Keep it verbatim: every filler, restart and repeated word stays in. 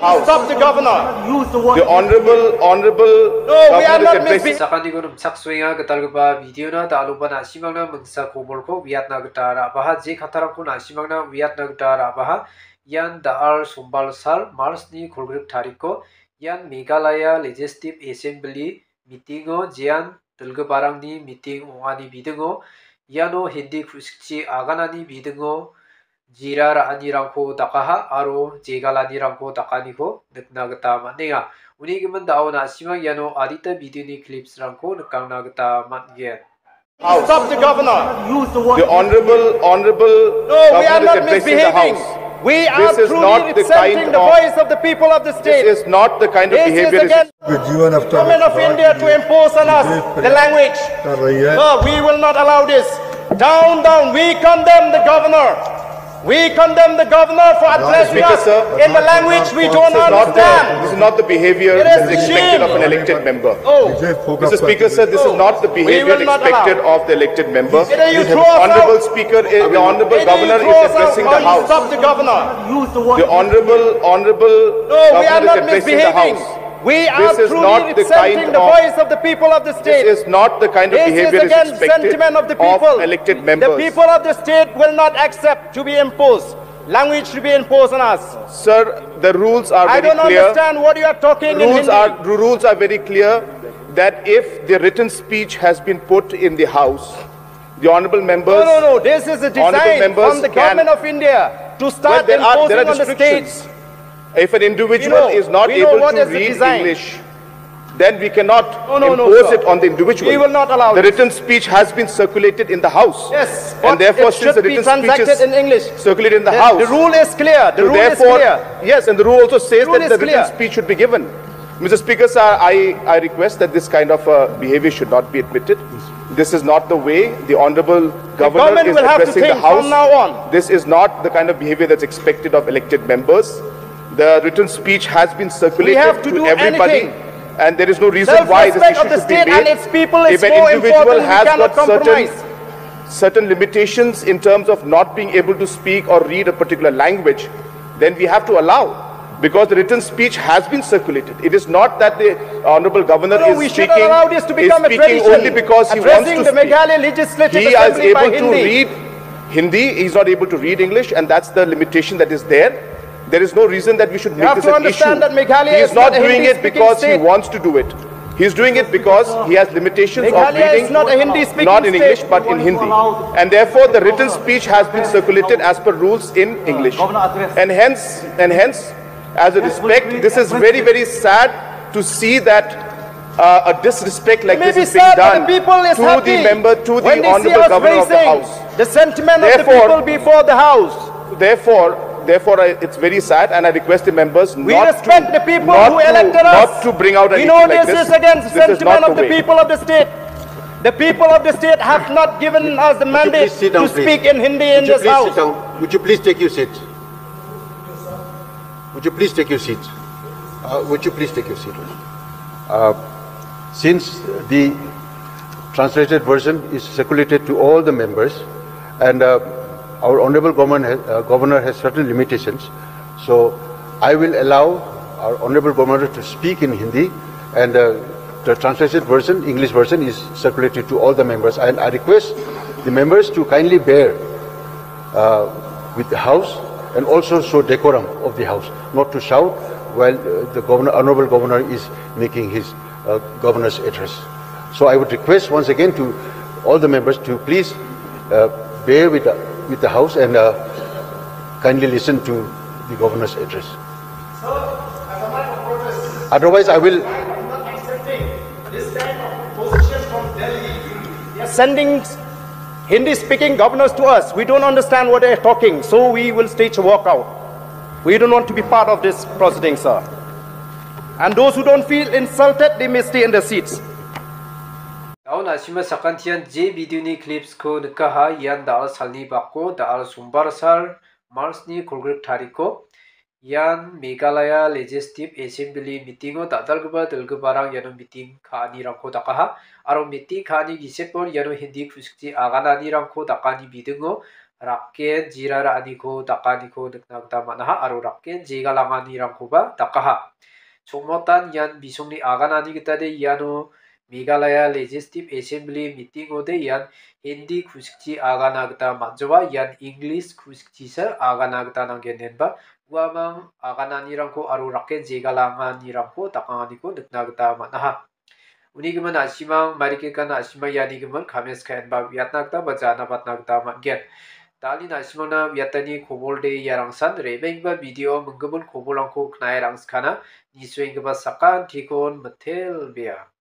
House. Stop the governor. Use the word. The honorable, honorable No, we are governor is not addressing misbehaving. Sakantikon rimchaksoenga, gitalgipa videona da·aloba na·simangna mingsa kobolko uiatna gita ra·baha, je kattarangko na·simangna uiatna gita ra·baha. Ian da·al sombal sal, March-ni kolgrik tariko, ian Meghalaya Legislative Assembly meeting-o jean dilgiparangni meeting ong·ani bidingo, iano Hindi ku·sikchi aganani bidingo jera ra·anirangko dakaha aro jegalanirangko dakaniko nikna gita man·enga. Uni gimin da·o na·simang iano adita videoni clips-rangko nikangna gita man·gen. House. Stop the governor. Use the word. The honorable, honorable No, we are governor is not addressing the misbehaving. House. We are This is truly not the representing kind the of, voice of the people of the state. This is not the kind of This is behavior is against the government of India to impose on us the language. No, we will not allow this. Down, down. We condemn the governor. We condemn the governor for addressing Speaker, us sir. in the language we don't This is not the, understand. this is not the behavior It is that is expected of an shame. elected member. Oh. Mister Speaker, sir, this is not the We behavior will not allow. expected of the elected member. Either you The throw us Honorable out. Speaker is, the Honorable Either you Governor throw is us out addressing or the you House. stop the governor. The Honorable, Honorable No, we are Governor is not addressing the misbehaving. House. We are This is truly not the representing kind the of voice of the people of the state. This is not the kind of This is behavior is against expected sentiment of the of people. elected The members. people of the state will not accept to be imposed. Language to be imposed on us. Sir, the rules are I very don't clear. understand what you are talking in Rules Hindi. are, the rules are very clear that if the written speech has been put in the House, the honorable members, No, no, no. This is a honorable design members from the can government of India to Well, start there are, there imposing are on the restrictions. states. If an individual We know, is not we know able what to is the read design. English, then we cannot No, no, no, impose sir. it on the individual. We will not allow The this. written speech has been circulated in the House. Yes, And but therefore, it since should the be written speech transacted is in English. circulated in the The, House, the rule is clear. The so rule is therefore, clear. yes, and the rule also says Rule that is the written clear. speech should be given. Mister Speaker, sir, I, I request that this kind of uh, behavior should not be admitted. This is not the way the Honorable Governor government is will have to addressing the think House. from now on. This is not the kind of behavior that's expected of elected members. The written speech has been circulated have to to do everybody, anything. and there is no reason why this Self-respect issue of the should be state made. and its people is If an more individual important, we has cannot got certain, compromise. certain limitations in terms of not being able to speak or read a particular language, then we have to allow, because the written speech has been circulated. It is not that the Honorable Governor No, no, is we should speaking, allow this to is become a speaking tradition. only because he wants Addressing to the speak. Meghalaya Legislative He is Assembly by able to Hindi. read Hindi, he's not able to read English, and that's the limitation that is there. There is no reason that we should You make have this to an understand issue. that Meghalaya He is is not not a doing it Hindi-speaking because he state. wants to do it. He's doing it because he has limitations of Meghalaya is reading, not a Hindi-speaking not in state. English, but in Hindi. And therefore, the written speech has been circulated as per rules in English. And hence, and hence, as a respect, this is very, very sad to see that uh, a disrespect like It may this be is being sad, but done the people is to happy the member, to when the they see Honorable us Governor of the raising House. the sentiment of the Therefore, people before the House. Therefore, therefore, I, it's very sad, and I request the members We not respect to, the people not who to, elected us. not to bring out We anything know like this this. is against the This is sentiment not of the the way. people of the state. The people of the state have not given us the Would you mandate please sit down, to please? speak in Hindi in Would you this please sit house. down? Would you please take your seat? Would you please take your seat? Uh, would you please take your seat? Uh, since the translated version is circulated to all the members, and uh, our honorable government has, uh, governor has certain limitations, so I will allow our honorable governor to speak in Hindi, and uh, the translated version, English version, is circulated to all the members, and I request the members to kindly bear uh, with the house and also show decorum of the house, not to shout while uh, the governor, honorable governor is making his uh, governor's address. So I would request once again to all the members to please uh, bear with the, with the house and uh, kindly listen to the governor's address. Otherwise, I will They are sending Hindi speaking governors to us. We don't understand what they are talking, so we will stage a walkout. We don't want to be part of this proceeding, sir. And those who don't feel insulted, they may stay in their seats. Daun asima sakantian je videoni clipsko nikaha, ian da·al salni bako, da·al sombar sal, March-ni kolgrik tariko. Ian Meghalaya Legislative Assembly meeting-o dal·dalgipa dilgiparang iano meeting ka·anirangko dakaha. Aro meeting ka·ani gisepon iano Hindi ku·sikchi agananirangko dakani bidingo rakken jira ra·aniko dakaniko nikna gita man·aha aro rakken jegalanganirangkoba dakaha. Chongmotan ian bisongni aganani gitade iano Meghalaya Legislative Assembly meeting-ode ian Hindi kusikchi agana gita man·joa, ian English kusikchisa agana gita nanggen, denba uamang agananirangko aro rakken jegalanganirangko dakanganiko nikna gita man·aha. Unigimin na·simang, marikikan na·simang ianigimin comments ka·enba uiatna gita ba jana batna gita man·gen. Dal·e na·simangna uiatani kobolde iarangsan re·baenggipa video minggimin kobolrangko knae rangskana, nisuenggipa sakantikon mitelbea.